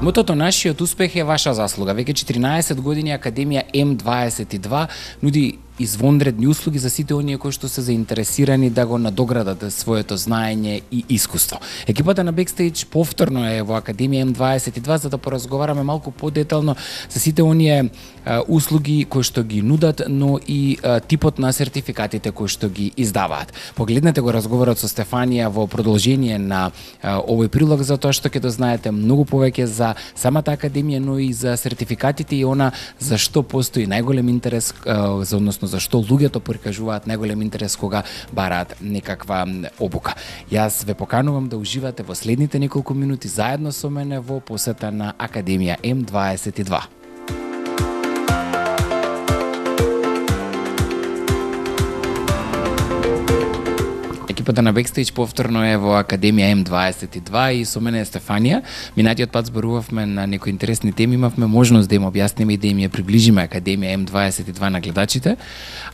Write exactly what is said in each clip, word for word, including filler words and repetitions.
Мотото нашиот успех е ваша заслуга. Веќе четиринаесет години Академија М дваесет и два нуди извонредни услуги за сите оние кои што се заинтересирани да го надоградат своето знаење и искуство. Екипата на Бекстејдж повторно е во Академија М дваесет и два за да поразговараме малку подетално за сите оние а, услуги кои што ги нудат, но и а, типот на сертификатите кои што ги издаваат. Погледнете го разговорот со Стефанија во продолжение на а, овој прилог, за тоа што ќе дознаете многу повеќе за самата Академија, но и за сертификатите и она за што постои најголем интерес, а, за односно зашто луѓето прикажуваат најголем интерес кога бараат некаква обука. Јас ве поканувам да уживате во следните неколку минути заедно со мене во посета на Академија М дваесет и два. Екипата на Бекстејдж повторно е во Академија М дваесет и два и со мене е Стефанија. Минатиот пат зборувавме на некои интересни теми, имавме можност да им објасниме и да им ја приближиме Академија М дваесет и два на гледачите.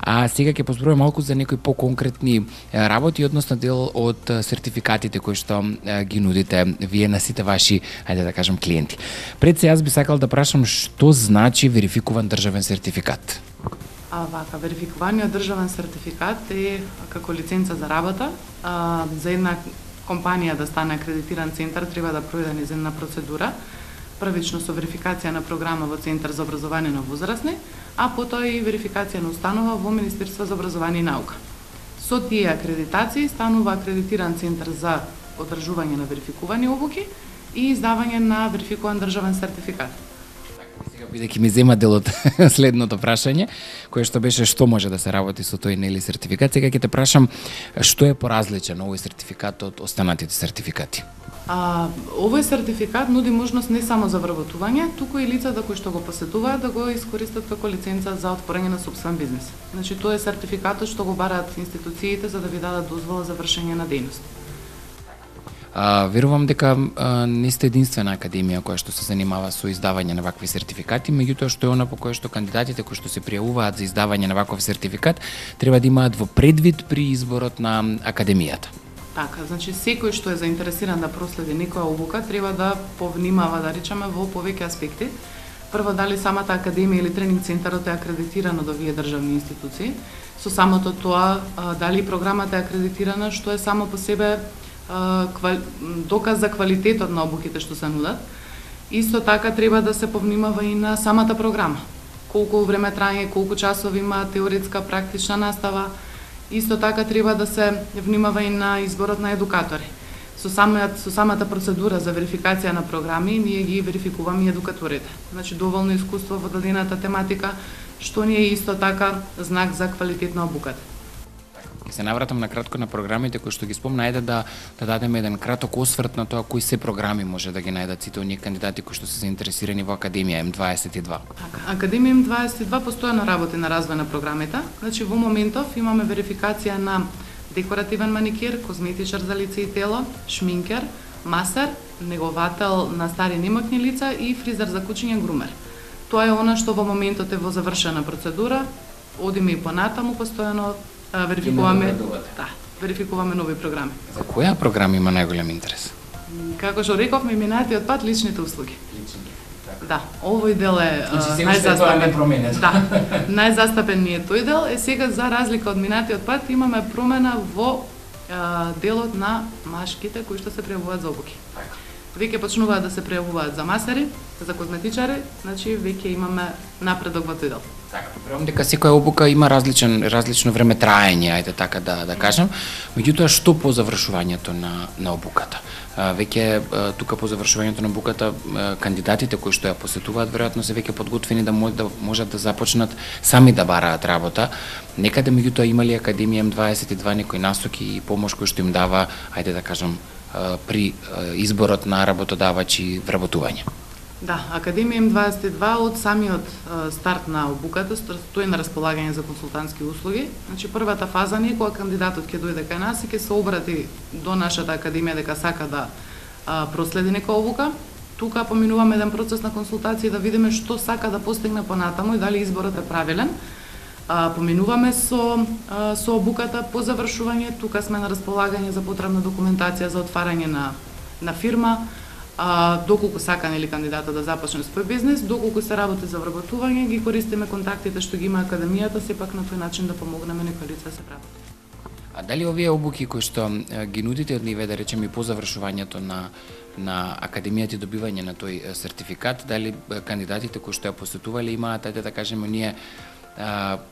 А сега ќе позборуваме малку за некои поконкретни работи, односно дел од сертификатите кои што ги нудите вие на сите ваши, ајде да кажам, клиенти. Пред се јас би сакал да прашам што значи верификуван државен сертификат. А, вака, верификуваниот државен сертификат е како лиценца за работа. А, за една компанија да стане акредитиран центар треба да пројде низ една процедура. Првично со верификација на програма во Центар за образование на возрастни, а потоа и верификација на установа во Министерство за образование и наука. Со тие акредитации станува акредитиран центар за одржување на верификувани обуки и издавање на верификуван државен сертификат. Бидејќи ми зема дел од следното прашање, кое што беше што може да се работи со тој нели сертификат, сега ќе те прашам што е поразличен овој сертификат од останатите сертификати? А, овој сертификат нуди можност не само за вработување, туку и лицата кои што го посетуваат да го искористат како лиценца за отворање на сопствен бизнес. Значи тоа е сертификатот што го бараат институциите за да ви дадат дозвола за вршење на дејност. А, верувам дека а, не сте единствена академија која што се занимава со издавање на вакви сертификати, меѓутоа што е она по кое што кандидатите кои што се пријавуваат за издавање на ваков сертификат треба да имаат во предвид при изборот на академијата. Така, значи секој што е заинтересиран да проследи некоја обука треба да повнимава, да речеме, во повеќе аспекти. Прво, дали самата академија или тренинг центарот е акредитиран од овие државни институции. Со самото тоа, дали програмата е акредитирана, што е само по себе доказ за квалитетот на обуките што се нудат. Исто така треба да се повнимава и на самата програма. Колку време траje, колку часови има теоретска, практична настава. Исто така треба да се внимава и на изборот на едукатори. Со самата, со самата процедура за верификација на програми, ние ги верификуваме и едукаторите. Значи, доволно искуство во дадената тематика, што ни е исто така знак за квалитет на обуката. Ќе се навратам на кратко на програмите кои што ги спомна, ајде да да дадеме еден краток осврт на тоа кои се програми може да ги најдат сите оние кандидати кои што се заинтересирани во Академија М дваесет и два. Така, Академија М дваесет и два постојано работи на развој на програмите. Значи во моментов имаме верификација на декоративен маникир, козметичар за лице и тело, шминкер, масер, неговател на стари немокни лица и фризер за кучиња, грумер. Тоа е она што во моментот е во завршена процедура. Одиме и понатаму постојано верификуваме, да, верификуваме нови програми. За која програма има најголем интерес? Како што рековме минатиот пат, личните услуги. Личните. Да, овој дел е значи, најзастапен. Да, најзастапен ни е тој дел. Е сега за разлика од минатиот пат имаме промена во а, делот на машките кои што се пријавуваат за обуки. Веќе почнуваат да се пријавуваат за масери, за козметичари, значи веќе имаме напредок во тој дел. Така, верувам дека секоја обука има различен различно време траење, ајде така да да кажам. Меѓутоа што по завршувањето на на обуката? А, веќе а, тука по завршувањето на обуката а, кандидатите кои што ја посетуваат веројатно се веќе подготвени да можат да можат да започнат сами да бараат работа. Некаде меѓутоа има ли Академија М дваесет и два некои насоки и помош кој што им дава, ајде да кажам, а, при а, изборот на работодавач и вработување? Да, Академија М дваесет и два од самиот старт на обуката стои на располагање за консултантски услуги. Значи првата фаза не е кога кандидатот ќе дојде кај нас и ќе се обрати до нашата академија дека сака да а, проследи некоја обука. Тука поминуваме еден процес на консултација да видиме што сака да постигне понатаму и дали изборот е правилен. А, поминуваме со а, со обуката по завршување, тука сме на располагање за потребна документација за отварање на на фирма. а, доколку сака нели кандидатот да започне свој бизнес, доколку се работи за вработување, ги користиме контактите што ги има академијата, сепак на тој начин да помогнеме некои лица да се вработи. А дали овие обуки кои што ги нудите од ниве, да речеме и по завршувањето на на академијата и добивање на тој сертификат, дали кандидатите кои што ја посетувале имаат, ајде да кажеме, ние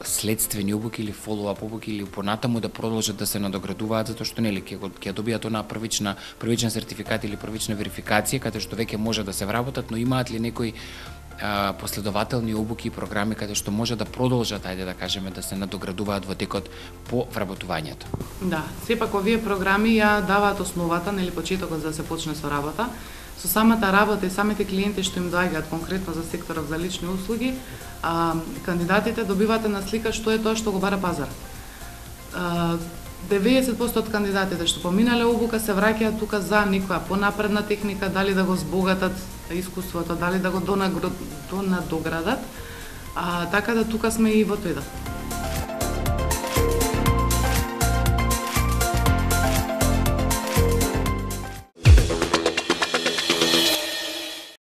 следствени обуки или фоллоуап обуки или понатаму да продолжат да се надоградуваат, затоа што нели ќе ќе добијат она првична првичен сертификат или првична верификација каде што веќе може да се вработат, но имаат ли некои а, последователни обуки и програми каде што може да продолжат, ајде да кажеме, да се надоградуваат во текот по вработувањето? Да, сепак овие програми ја даваат основата, нели почетокот за да се почне со работа. Со самата работа и самите клиенти што им доаѓаат конкретно за секторот за лични услуги, а, кандидатите добиваат една слика што е тоа што го бара пазар. А, деветдесет проценти од кандидатите што поминале обука се враќаат тука за некоја понапредна техника, дали да го збогатат искуството, дали да го донадоградат, а, така да тука сме и во тој дел.